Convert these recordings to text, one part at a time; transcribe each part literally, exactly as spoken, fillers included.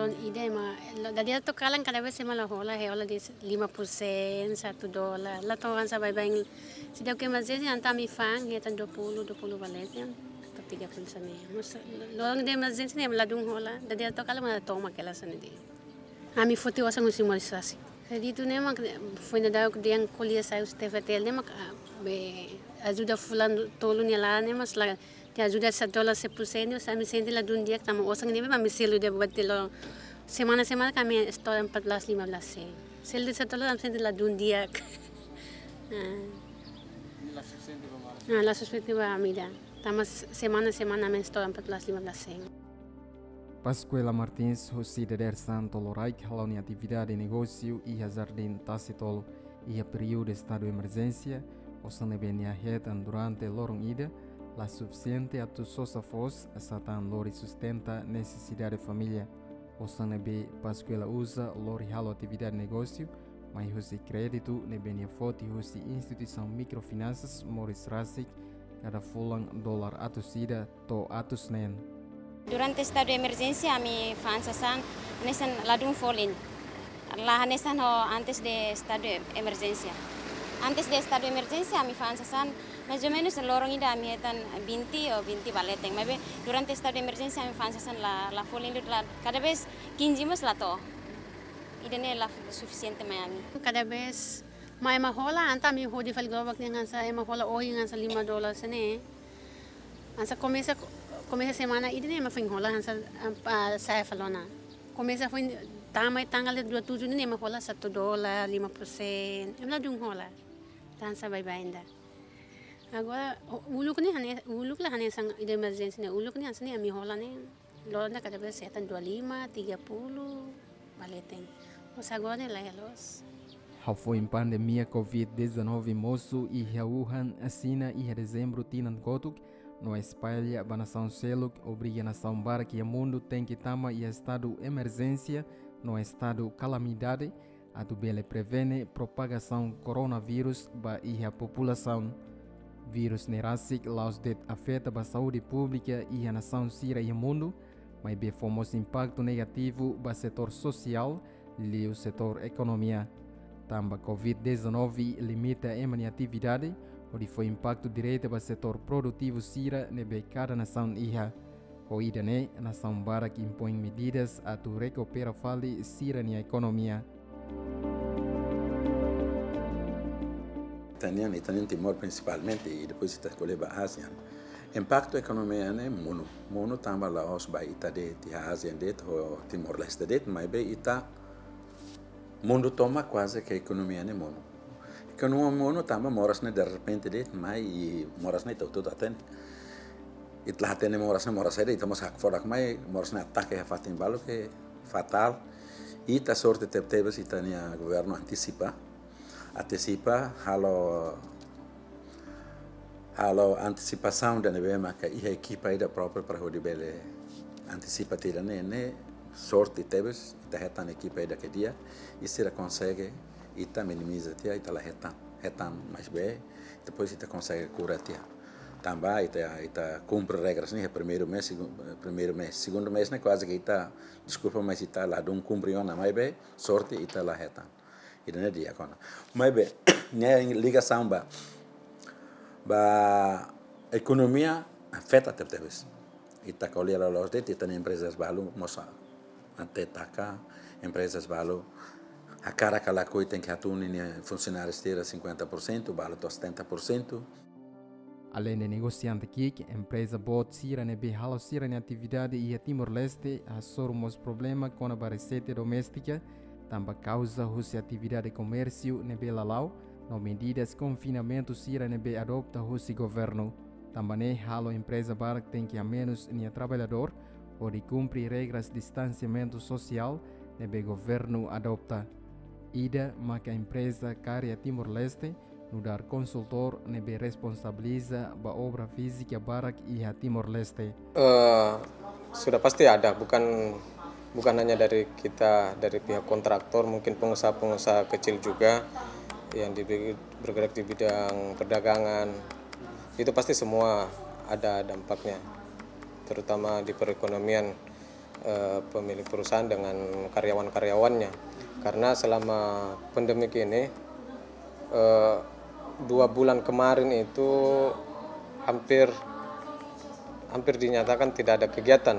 Ida ema, lo, dadi atu kalan kada vez ema la hola, he hola de'it lima puluh sen, satu dolar. La to'o hanesan baibain. Se de'it ke emerjénsia entaun ami fa'an, hetan dua puluh, dua puluh ba leten, atau tiga puluh hanesan ne'e. Mas, lo, loron ida emerjénsia ne'e ema ladún hola, dadi atu kalan ema la to'o mak hela hanesan ne'e de'it. Ami foti osan husi moris rasik. Kreditu ne'e mak foin dadaun dehan ko'alia sai husi T F T L ne'e mak, ah, be ajuda fulan tolu nia laran ne'e mas la, te ajuda satu dolar sepuluh sen, ami sente ladún di'ak tanba osan ne'ebé ami selu de'it buat telo. Semana-semana ami estora empat belas, lima belas sen. Selu de'it satu dolar ami sente ladún di'ak. Ah. Ne'e la sufisiente ba moras. Ah, la sufisiente ba ami ida. Tanba semana-semana ami estora empat belas, lima belas sen. Pascuela Martins husi dadeer-saan Toloraik hala'o nia atividade negósiu iha Jardín Tasi Tolu. Iha períodu estadu emerjénsia, osan ne'ebé nia hetan durante loron ida la sufisiente atu sosa foos atu lori sustenta nesesidade família. Osan ne'ebé Pascuela uza lori halo atividade negósiu mai husi kréditu ne'ebé nia foti husi instituisaun mikrofinansas moris rasik, kada fulan dolar atus ida to'o atus neen. Durante estadu emerjénsia ami fa'an sasán hanesan ladún folin. La hanesan ho antes de estadu emerjénsia. Antes de estadu emerjénsia ami fa'an sasán mais ou menus loron ida ami hetan vinte ou vinte ba leten. Maibé durante estadu emerjénsia ami fa'an sasán la, la folin, la, kada vez kinze mós la to'o. Ida-ne'e la sufisiente mai ami. Kada vez mai ema hola, entaun ami hodi fali globak ne'e hanesan ema hola ohin hanesan lima dolar hanesan ne'e. Hanesan komesa, komesa semana ida-ne'e ema foin hola hanesan, ah, sa'e fali ona. Komesa foin tama iha tanggal dua tujuh ne'e ema hola satu dolar, lima puluh sen. Ema ladún hola. Hanesan baibain ida. Agora, u-, uluk ne'e hane-, uluk la hanesan ida emerjénsia ne'e, uluk ne'e hanesan ne'e ami hola ne'e. Loron ida kada vez hetan dua lima, tiga puluh ba leten. Mas agora ne'e la'ós. Hafoin pandemia covid dezanove mosu iha Wuhan, Xina, iha dezembru tinan kotuk, no espalla ba nasaun seluk, obriga nasaun barak iha mundu tenke tama iha estadu emerjénsia no estadu kalamidade, atu bele prevene propagasaun koronavírus ba iha populasaun. Vírus ne'e rasik la'ós de'it afeta ba saúde públika iha nasaun sira iha mundu, maibé fó mós impaktu negativu ba setór sosiál, liuliu setór ekonomia. Tanba covid dezanove limita ema nia atividade, hodi fó impaktu direta ba setór produtivu sira ne'ebé kada nasaun iha. Ho ida-ne'e, nasaun barak impoin medidas atu rekupera fali sira-nia ekonomia. Ita-nian, ita-nian Timor prinsipalmente, i depois ita ko'alia ba ASEAN. Impaktu ekonomia ne'e monu, monu tanba la'ós ba ita de'it, iha ASEAN de'it, ho Timor-Leste de'it, maibé ita mundu tomak kuaze ke ekonomia ne'e monu. Ekonomia monu tanba moras ne'e derrepente de'it mai, i moras ne'e ita hotu hatene. Ita la hatene moras ne'e moras saida, ita mós hakfodak mai, moras ne'e atake iha fatin balu ke fatál. Ita sorte tebetebes ita-nia governu antisipa. Antisipa, halo halo antisipasaun ida ne'ebé maka iha ekipa ida própriu para hodi bele antisipa tiha ida-ne'e, ne'e sorte tebes, ita hetan ekipa ida ke di'ak, i sira konsege ita minimiza tiha, ita la hetan, hetan maibé, depois ita konsege kura tiha. Tanba ita, ita kumpre regras ne'e, primeiru mês, segun-, primeiru mês, segundu mês ne'e kuaze ke ita, deskulpa, mas ita ladún kumpre ona, maibé, sorte ita la hetan. Ida-ne'e di'ak ona. Maibé, nia ligasaun ba, ba ekonomia afeta tebetebes. Ita ko'alia loloos de'it, ita-nia emprezas balu mós até taka, emprezas balu hakarak ka lakohi tenke hatún ninia funsionáriu sira cinquenta por cento, balu to'o setenta por cento. Aleinde negosiante ki'ik, empreza boot sira ne'ebé halo sira-nia atividade iha Timor-Leste hasoru mós problema kona-ba reseita doméstika, tanba kauza husi atividade komérsiu ne'ebé la la'o, no medidas konfinamentu sira ne'ebé adopta husi governu. Tanba ne'e halo empreza barak tenke hamenus nia traballadór, hodi kumpre regras distansiamentu sosiál ne'ebé governu adopta. Ida maka empreza Karya Timor-Leste, nu'udar konsultór ne'ebé responsabiliza ba obra fízika barak iha Timor-Leste. Eh, sudah pasti ada, bukan, bukan hanya dari kita, dari pihak kontraktor, mungkin pengusaha-pengusaha kecil juga yang di, bergerak di bidang perdagangan, itu pasti semua ada dampaknya, terutama di perekonomian. eh, pemilik perusahaan dengan karyawan-karyawannya. Karena selama pandemi ini, eh, dua bulan kemarin itu hampir, hampir dinyatakan tidak ada kegiatan.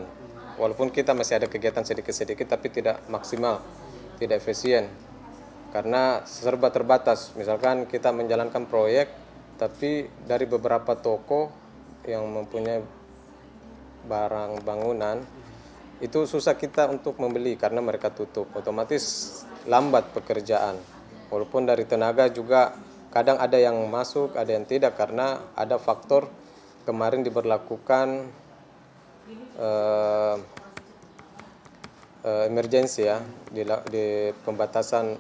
Walaupun kita masih ada kegiatan sedikit-sedikit, tapi tidak maksimal, tidak efisien. Karena serba terbatas. Misalkan kita menjalankan proyek, tapi dari beberapa toko yang mempunyai barang bangunan, itu susah kita untuk membeli karena mereka tutup. Otomatis lambat pekerjaan. Walaupun dari tenaga juga kadang ada yang masuk, ada yang tidak karena ada faktor kemarin diberlakukan, eh, eh, emergency ya, di la-, di pembatasan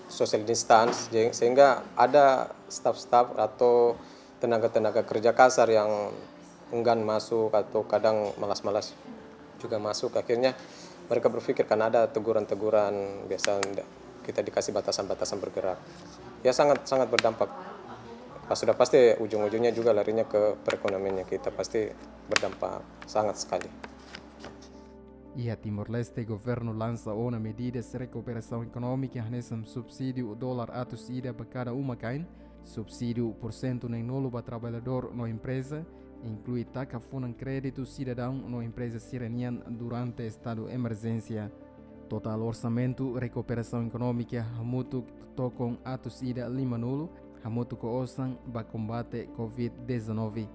social distance, je-, sehingga ada staf-staf atau tenaga-tenaga kerja kasar yang enggan masuk atau kadang malas-malas juga masuk. Akhirnya mereka berpikir karena ada teguran-teguran, biasa nda-, kita dikasih batasan-batasan bergerak. Ya, sangat, sangat berdampak. Pas sudah pasti ujung-ujungnya juga larinya ke perekonomiannya kita, pasti berdampak sangat sekali. Iha Timor-Leste, governu lansa ona medidas rekuperasaun ekonómika hanesan subsídiu dolar atus ida ba kada uma-kain, subsídiu pursentu neenulu ba traballadór no empreza, inklui taka funan kréditu sidadaun no empreza sira-nian durante estadu emerjénsia. Totál orsamentu rekuperasaun ekonómika hamutuk tokon atus ida limanulu, hamutuk ho osan ba kombate covid dezanove.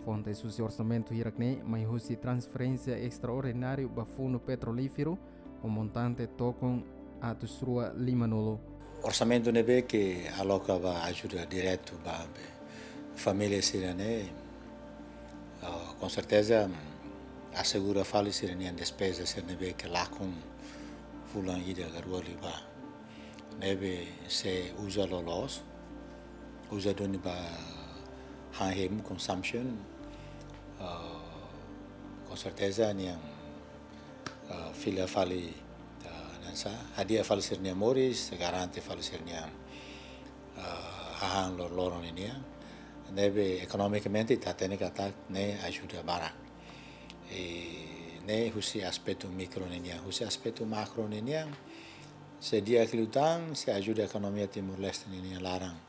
Fontes husi orsamentu hirak-ne'e mai husi transferénsia estraordináriu ba Fundu Petrolíferu, ho montante tokon atus rua limanulu. Orsamentu ne'ebé ke aloka ba ajuda diretu ba be família sira-ne'e, ah, com certeza, mm, asegura fali sira-nia despeza sira ne'ebé ke lakon fulan ida ka rua liubá. Ne'ebé se uza loloos, uza duni ba han hemu, consumption, ah, com certeza nian, ah, fila fali, ah, hanesan, hadi'a fali sira-nia moris, garante fali sira-nia, ah, hahán loroloron ninian. Ne'ebé ekonomikamente ita hatene katak ne'e ajuda barak. I ne'e husi aspetu mikro ninian, husi aspetu makro ninian, se di'ak liután, se ajuda ekonomia Timor-Leste ninian laran,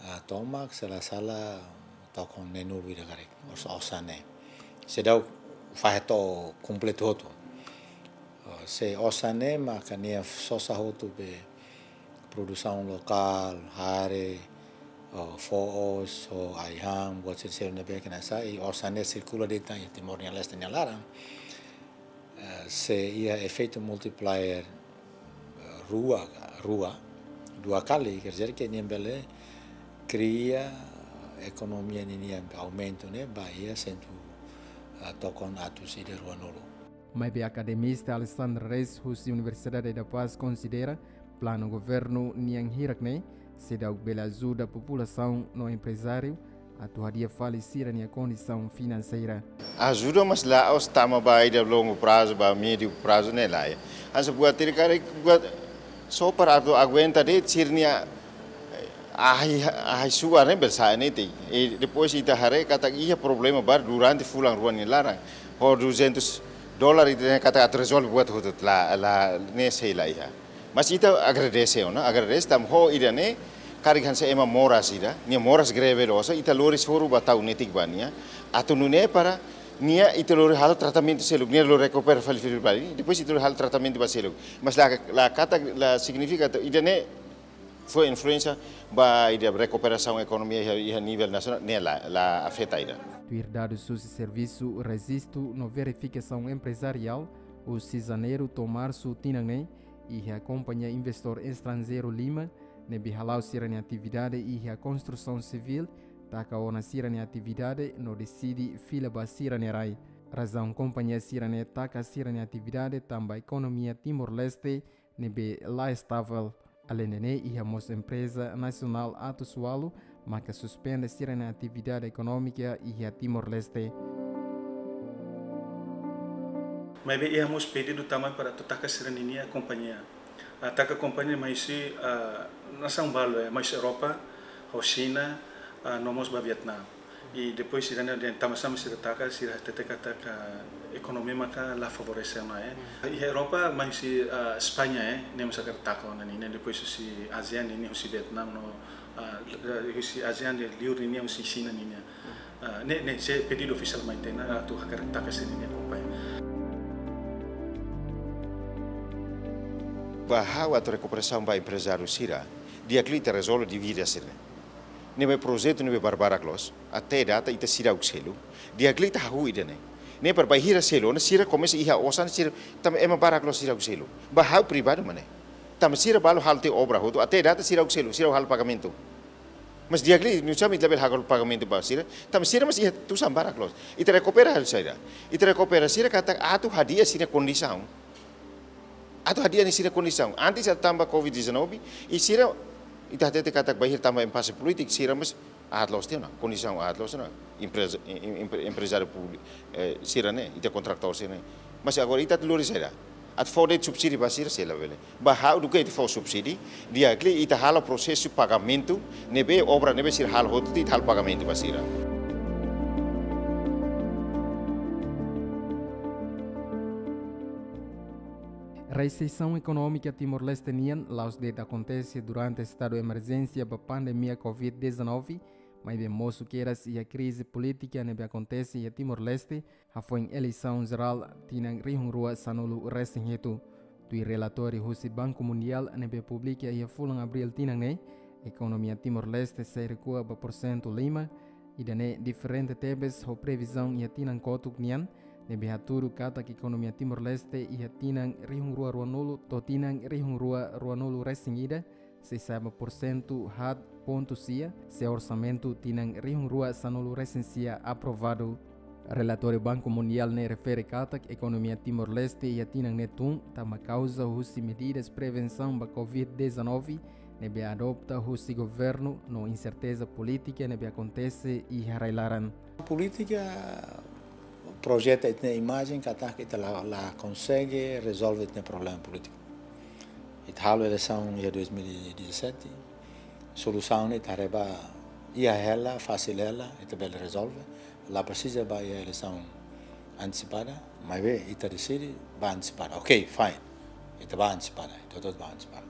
ah, tomak, se la sala tokon neenulu ida karik, os-, osan ne'e. Seidauk fahe to'o kompletu hotu. Ah, se osan ne'e maka nia sosa hotu be produsaun lokál, hare, ah, foos, ho ai-han, buat sira seluk ne'ebé ke hanesan, i osan ne'e sirkula de'it iha Timor nia leste nia laran. Eh, se iha efeitu multiplier, eh, rua, rua, dua kali, quer dizer que nia bele kria ekonomia ninian aumentu ne'e ba iha sentu, eh, tokon atus ida ruanulu. Maibé akademista Alexandre Reis husi Universidade da Paz konsidera planu governu nian hirak-ne'e seidauk bele ajuda populasaun no emprezáriu atu hadi'a fali sira-nia kondisaun finanseira. Ajuda, mas la'ós tama ba ida longu prazu, ba médiu prazu ne'e lae. Hanesan buat ida karik buat só para atu aguenta de'it sira-nia, eh, ahi, ahi suar ne'e bele sa'e netik. I depois ita haree katak iha problema barak durante fulan rua nia laran. Ho duzentus dolar ita katak atu rezolve buat hotu la, la, ne'e sei la iha. Mas ita agradese ona, agradese tanba ho ida-ne'e, karik hanesan ema moras ida, nia moras greve dosa, ita lori soru ba tau netik ba nia, atu nune'e para nia ita lori halo tratamentu seluk, nia lori rekupera fali fali ba nia, depois ita lori halo tratamentu ba seluk. Mas la, la katak, la signifika atu ida-ne'e fó influénsia ba ida rekuperasaun ekonomia iha, iha nivel nasionál, ne'e la, la afeta ida. Tuir dadus husi Servisu Rejistu no Verifikasaun Emprezariál, husi janeiru to'o marsu tinan ne'e, iha kompañia investór estranjeiru lima ne'ebé hala'o sira-nia atividade iha konstrusaun sivíl taka ona sira-nia atividade no deside fila ba sira-nia rai. Razaun kompañia sira-ne'e taka sira-nia atividade tanba ekonomia Timor-Leste ne'ebé la estável. Aleinde ne'e, iha mós empreza nasionál atus ualu maka suspende sira-nia atividade ekonómika iha Timor-Leste. Maibé iha mós pedidu tama para atu taka sira-ninia kompañia. Ah, taka kompañia mai husi, ah, nasaun balu, eh, mai husi Europa, ho Xina, ah, no mós ba Vietnam. I depois sira-ne'e dehan tanba sá mak sira taka, sira hatete katak ekonomia maka la favorese ona, eh. Iha Europa mai husi, ah, España, eh, ne'e mós hakarak taka ona ninia, depois husi ASEAN ninia, husi Vietnam no, ah, husi ASEAN dehan liur ninia, husi Xina ninia. Ah, ne'e, ne'e sei pedidu ofisiál mai tiha ona atu hakarak taka sira-nia akompaña. Ba ha'u atu rekuperasaun ba emprezáriu sira, di'ak liu ita rezolve dívida sira-ne'e. Ne'ebé projetu ne'ebé barbarak loos, até data ita seidauk selu, di'ak liu ita hahú ida-ne'e. Ne'e para bainhira selu ona sira komesa iha osan sira, tanba ema barak loos seidauk selu. Ba ha'u privadu mak ne'e. Tanba sira balu halo tiha obra hotu, até data seidauk selu, seidauk halo pagamentu. Mas di'ak liu, nusá mak ita labele halo pagamentu ba sira, tanba sira mós iha tusan barak loos. Ita rekupera halo saida. Ita rekupera sira katak atu hadi'a sira-nia kondisaun. Atu hadi'a sira-nia kondisaun. Antes atu tanba covid dezanove, i sira, ita hatete katak bainhira tanba impase polítiku, sira mós aat loos tiha ona, kondisaun aat loos ona, empreza, em-, em-, empre-, emprezáriu públiku, eh, sira-ne'e, ita kontratór sira-ne'e. Mas agora ita atu lori saida. Atu fó de'it subsídiu ba sira sei labele. Ba ha'u duké ita fó subsídiu, di'ak liu ita halo prosesu pagamentu, ne'ebé obra ne'ebé sira halo hotu ita halo pagamentu ba sira. Resesaun ekonómika Timor-Leste nian la'ós de'it akontese durante estadu emerjénsia ba pandemia covid dezanove, maibé mosu kedas iha krize polítika ne'ebé akontese iha Timor-Leste, hafoin eleisaun jerál tinan rihun rua sanulu resin hitu. Tuir relatóriu husi Banku Mundiál ne'ebé publika iha fulan Abríl tinan ne'e, ekonomia Timor-Leste sei rekua ba porsentu lima, ida-ne'e diferente tebes ho previzaun iha tinan kotuk nian, ne'ebé hatudu katak ekonomia Timor-Leste iha tinan rihun rua ruanulu to'o tinan rihun rua ruanulu resin ida, sei sa'e ba porsentu haat pontu sia, se orsamentu tinan rihun rua sanulu resin sia aprovadu. Relatóriu Banku Mundiál ne'e refere katak ekonomia Timor-Leste iha tinan ne'e tun tanba kauza husi medidas prevensaun ba covid dezanove ne'ebé adopta husi governu no inserteza polítika ne'ebé akontese iha rai-laran. Polítika projeta ita-nia imajen katak ita la, la konsege rezolve ita-nia problema polítiku. Ita halo eleisaun iha dois mil e dezassete, solusaun ne'e ita haree ba iha hela, fasil hela, ita bele rezolve. La presiza ba iha eleisaun antesipada, maibé ita deside ba antesipada. Ok, fine. Ita ba antesipada, ita hotu ba antesipada.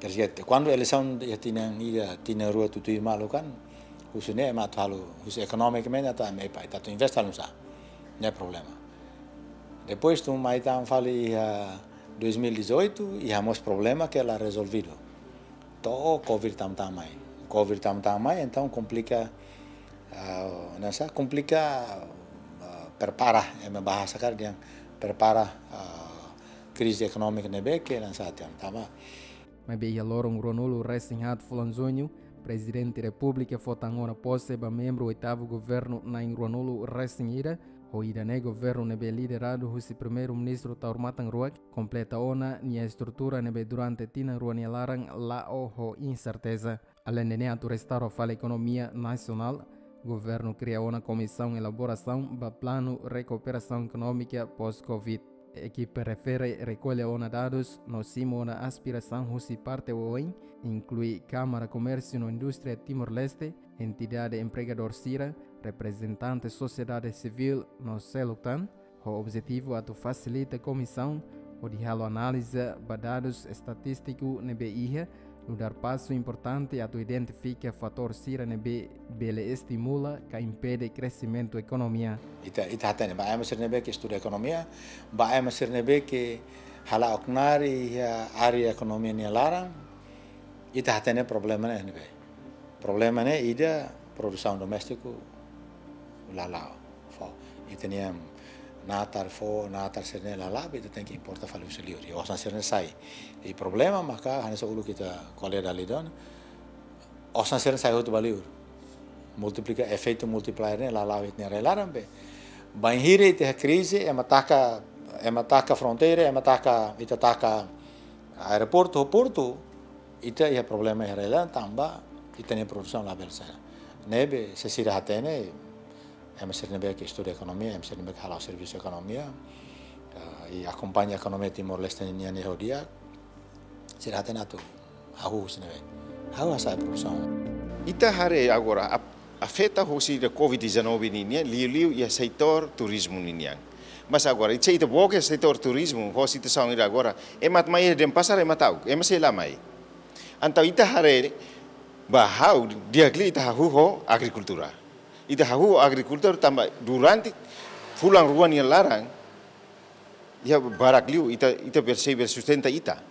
Quer dizer, kuandu eleisaun iha tinan ida, tinan rua tutuir malu kan, husi ne'e ema atu halo, husi ekonomikamente atu ema epá, ita atu investe halo nusá. Ne'e problema. Depois tun mai tan fali iha dois mil e dezoito, iha mós problema ke la rezolvidu. To'o covid tama-tama mai. Covid tama-tama mai, entaun komplika, ah, nusá, komplika, ah, prepara, ema bahasa karik dehan prepara, ah, krize ekonómika ne'ebé ke nusá tiha ona. Maibé iha loron ruanulu resin haat fulan Juñu, Prezidente Repúblika fó tan ona pose ba membru oitavu governu na'in ruanulu resin ida, ho ida-ne'e governu ne'ebé lideradu husi Primeiru-Ministru Taur Matan Ruak, kompleta ona nia estrutura ne'ebé durante tinan rua nia laran la'o ho inserteza. Aleinde ne'e atu restaura fali ekonomia nasionál, governu kria ona komisaun elaborasaun ba planu rekuperasaun ekonómika pós covid. Ekipa refere rekolla ona dadus no simu ona aspirasaun husi parte oioin, inklui Kámara Komérsiu no Indústria Timor-Leste, entidade empregadór sira, reprezentante sosiedade sivíl no seluk tan, ho objetivu atu fasilita komisaun hodi halo análize ba dadus estatístiku ne'ebé iha, nu'udar pasu importante atu identifika fatór sira ne'ebé bele estimula ka impede kresimentu ekonomia. Ita, ita hatene, ba ema sira ne'ebé ke estuda ekonomia, ba ema sira ne'ebé ke hala'o knaar iha área ekonomia nia laran, ita hatene problema ne'e ne'ebé. Problema ne'e ida, produsaun doméstiku la la'o. Fó, ita-nia natar fó, natar sira-ne'e la la'o, ita tenke importa fali husi liur. I osan sira-ne'e sai. I problema maka hanesan uluk ita ko'alia dala ida ona, osan sira-ne'e sai hotu ba liur. Multiplika, efeitu multiplier ne'e la la'o iha ita-nia rai-laran be. Bainhira ita iha krize, ema taka, ema taka fronteira, ema taka, ita taka aeroportu, portu, ita iha problema iha rai-laran tanba ita-nia produsaun labele sai. Ne'ebé, se sira hatene, ema sira ne'ebé ke estuda ekonomia, ema sira ne'ebé ke hala'o servisu ekonomia, eh, i akompaña ekonomia Timor-Leste nian iha ho di'ak, sira hatene atu hahú husi ne'ebé. Hahú hasa'e produsaun. Ita haree agora, ap-, Afeta husi ida covid dezanove ninian, liuliu iha setór turizmu ninian. Mas agora, ita, ita boke setór turizmu, ho situasaun ida agora, ema atu mai iha Denpasar, ema ta'uk, ema sei la mai. Entaun ita haree, ba ha'u, di'ak liu ita hahú ho agrikultura. Ita hahú ho agrikultura tanba durante fulan rua nia laran, iha barak liu ita, ita bele sei bele sustenta ita.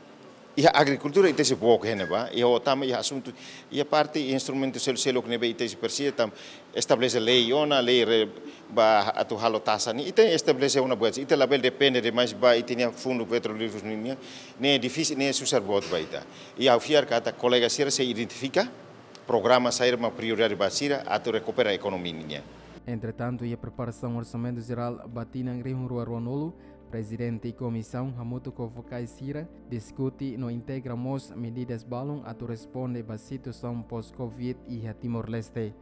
Iha agrikultura ita sei book iha ne'ebá, iha otan iha asuntu, iha parte instrumentu seluk-seluk ne'ebé ita sei presiza tanba estabelese lei ona, lei re-, ba atu halo taxa nian, ita estabelese ona buat, ita labele depende demais ba ita-nia fundu petrolíferu nian, ne'e difisil, ne'e susar boot ba ita. I ha'u fiar katak kolega sira sei identifika programa saida mak prioridade ba sira atu rekupera ekonomia nian. Entretantu, iha preparasaun Orsamentu Jerál ba tinan rihun rua ruanulu, Prezidente Komisaun hamutuk ho fokais sira diskute no integra mós medidas balun atu responde ba situasaun pós-covid iha Timor-Leste.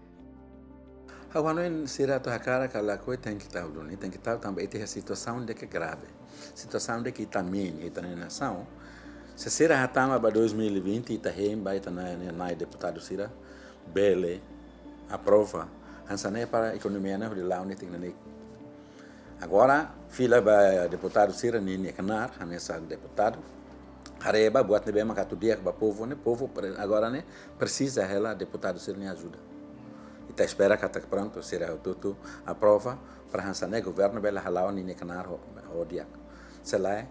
Ha'u hanoin sira atu hakarak ka lakohi tenke tau duni, tenke tau tanba ita iha situasaun ida ke grave. Situasaun ida ke ita-nia, ita-nia nasaun. Se sira hatama ba dois mil e vinte, ita hein ba ita-nia, nia, nia deputadu sira bele aprova. Hanesan ne'e para ekonomia ne'e hodi la'o netik-netik. Agora, fila ba deputadu sira-nia, nia knaar, hanesan deputadu. Haree ba buat ne'ebé mak atu di'ak ba povu ne'e, povu pre-, agora ne'e presiza hela deputadu sira-nia ajuda. Ita espera katak prontu, sira hotu-hotu aprova, para hanesan ne'e governu bele hala'o nia, nia knaar ho, ho di'ak. Se lae,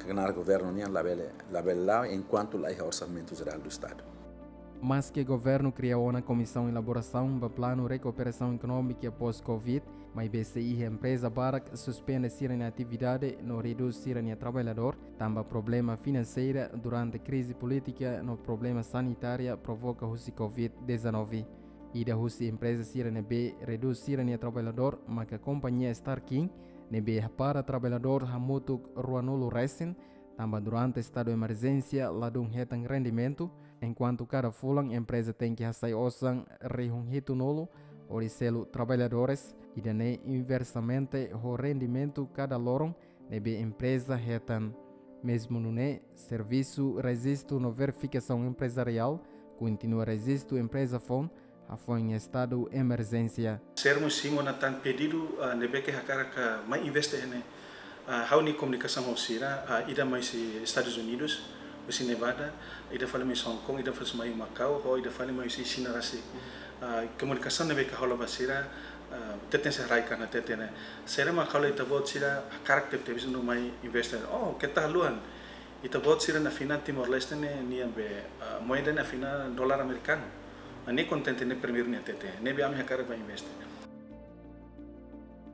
knaar governu nian labele, labele la'o enkuantu la iha Orsamentu Jerál do Estadu. Maske governu kria ona komisaun elaborasaun ba planu rekuperasaun ekonómika pós-covid, maibé sei iha empreza barak suspende sira-nia atividade no redús sira-nia traballadór, tanba problema finanseira durante krize polítika no problema sanitária provoka husi covid dezanove. Ida husi empreza sira ne'ebé redús sira-nia traballadór maka kompañia Starkin, ne'ebé hapara traballadór hamutuk ruanulu resin, tanba durante estadu emerjénsia ladún hetan rendimentu, enkuantu kada fulan empreza tenke hasai osan rihun hitunulu hodi selu traballadores, ida-ne'e inversamente ho rendimentu kada loron ne'ebé empreza hetan. Mezmu nune'e, servisu rejistu no verifikasaun emprezariál kontinua rejistu empreza foun hafoin estadu emerjénsia. Sira mós simu ona tan pedidu, ah, ne'ebé ke hakarak mai investe iha ne'e. Ah, ha'u-nia komunikasaun ho sira, ah, ida mai husi Estadus Unidus, husi Nevada, ida fali mai husi Hong Kong, ida fali mai Macau, ho ida fali mai husi Xina rasik. Ah, komunikasaun ne'ebé ke ha'u hola ba sira, ah, teten sei rai kana teten ne'e. Sira mak halo ita-boot sira hakarak tebetebes atu mai investe. Oh, keta haluha. Ita-boot sira-nia finan Timor-Leste ne'e nian be, ah, moeda ne'e finan dolar amerikanu. Ne'e kontente ne'e primeiru nia hatete. Ne'ebé ami hakarak ba investe.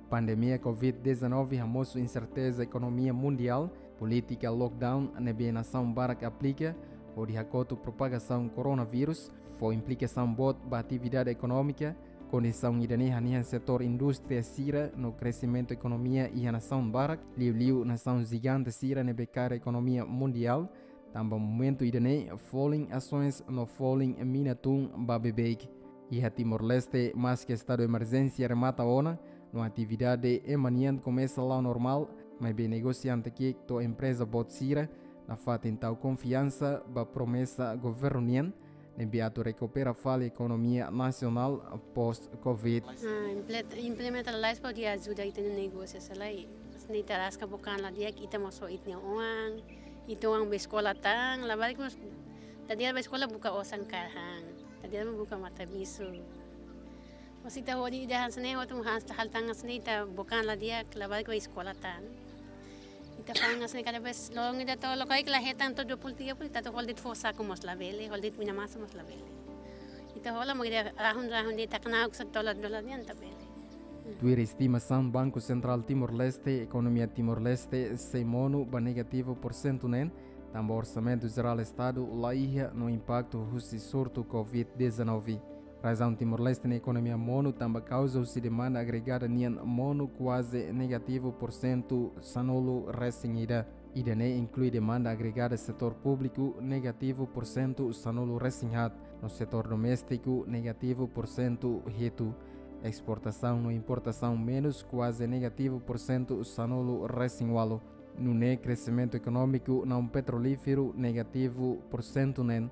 Pandemia covid dezanove hamosu inserteza ekonomia mundiál, polítika lockdown ne'ebé nasaun barak aplika hodi hakotu propagasaun koronavírus, fó implikasaun boot ba atividade ekonómika. Kondisaun ida-ne'e hanehan setór indústria sira no kresimentu ekonomia iha nasaun barak, liuliu nasaun jigante sira ne'ebé kaer ekonomia mundiál, tanba momentu ida-ne'e folin asoens no folin mina tun ba beibeik. Iha Timor-Leste, maske estadu emerjénsia remata ona, no atividade ema nian komesa la'o normál, maibé negosiante ki'ik to'o empreza boot sira nafatin tau konfiansa ba promesa governu nian, ne'ebé atu rekupera fali ekonomia nasionál pós-covid. Ah, imple-, implementa lalais hodi ajuda ita-nia negósiu, se lae. Ne'e ita rasik bokan la di'ak, ita mós ho ita-nia oan, ita oan bá eskola tan, labarik mós, ita di'ak bá eskola buka osan kaer han, ita di'ak buka matabixu. Mas ita hodi ida hanesan ne'e, hotu hanesan hal tan hanesan ne'e, ita bokan la di'ak, labarik bá eskola tan. Ita fa'an hanesan ne'e kada vez loron ida to'o lokaik la hetan to'o dua puluh tiga puluh, ita atu hola de'it fó saku mós labele, hola de'it mina masa mós labele. Ita hola mak ida rahun-rahun de'it, ita knaar husi dolar-dolar nian ita bele. Tuir estimasaun Banku Sentrál Timor-Leste, ekonomia Timor-Leste sei monu ba negativu porsentu neen, tanba Orsamentu Jerál Estadu la iha no impaktu husi surtu covid dezanove. Razaun Timor-Leste nia ekonomia monu tanba kauza husi demanda agregada nian monu kuaze negativu porsentu sanulu resin ida. Ida-ne'e inklui demanda agregada setór públiku negativu porsentu sanulu resin haat, no setór doméstiku negativu porsentu hitu. Esportasaun no importasaun menus kuaze negativu porsentu sanulu resin ualu. Nune'e kresimentu ekonómiku naun petrolíferu negativu porsentu neen.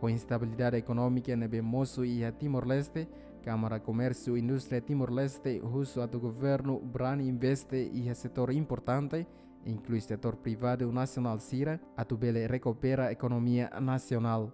Ho instabilidade ekonómika ne'ebé mosu iha Timor-Leste, Kámara Komérsiu Indústria Timor-Leste husu atu governu brani investe iha setór importante, inklui setór privadu nasionál sira, atu bele rekupera ekonomia nasionál.